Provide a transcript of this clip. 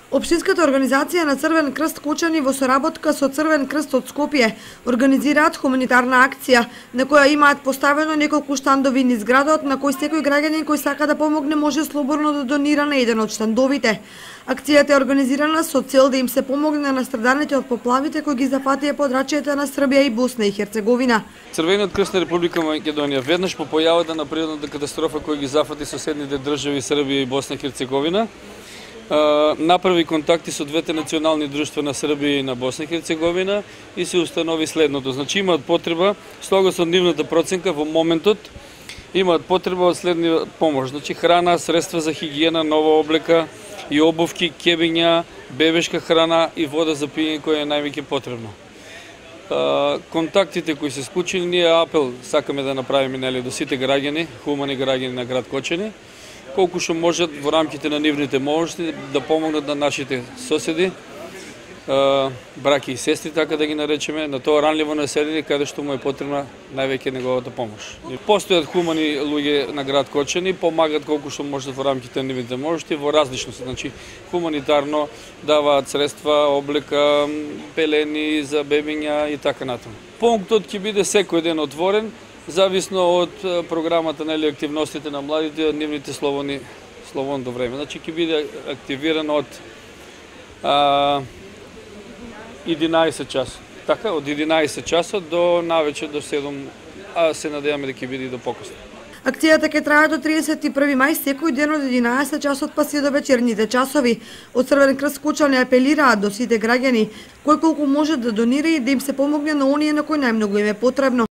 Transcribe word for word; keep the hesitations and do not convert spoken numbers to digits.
Општинската организација на Црвен крст Кучани во соработка со Црвен крст од Скопје организираат хуманитарна акција на која имаат поставено неколку штандови низ градот на кој секој граѓанин кој сака да помогне може слободно да донира на еден од штандовите. Акцијата е организирана со цел да им се помогне на страданите од поплавите кои ги зафатија подрачјата на Србија и Босна и Херцеговина. Црвениот крст на Република Македонија веднаш по појавата на природната катастрофа која ги зафати соседните држави Србија и Босна и Херцеговина направи контакти со двете национални друштва на Србија и на Босна и Херцеговина и се установи следното. Значи имаат потреба, слого со нивната проценка во моментот, имаат потреба од следнива помош. Значи храна, средства за хигиена, нова облека и обувки, кебиња, бебешка храна и вода за пиење која е највеќе потребно. Контактите кои се склучени, ние апел сакаме да направиме нели до сите граѓани, хумани граѓани на град Кочани, колку што можат во рамките на нивните можности да помогнат на нашите соседи, браќи и сестри, така да ги наречеме, на тоа ранливо население каде што му е потребна највеќе неговата помош. Постојат хумани луѓе на град Кочани, помагат колку што можат во рамките на нивните можности во различности, значи хуманитарно даваат средства, облека, пелени за бебиња и така натаму. Пунктот ќе биде секој ден отворен, зависно од програмата на активностите на младите и од нивните слободни слободно време. Значи ќе биде активирано од а, единаесет часот. Така, од единаесет часот до навечер до седум, а се надеваме да ќе биде и до покосно. Акцијата ќе трае до триесет и први мај секој ден од единаесет часот па се до вечерните часови. Од Црвен крст Кучани апелираат до сите граѓани кој колку може да донира и да им се помогне на оние на кои најмногу им е потребно.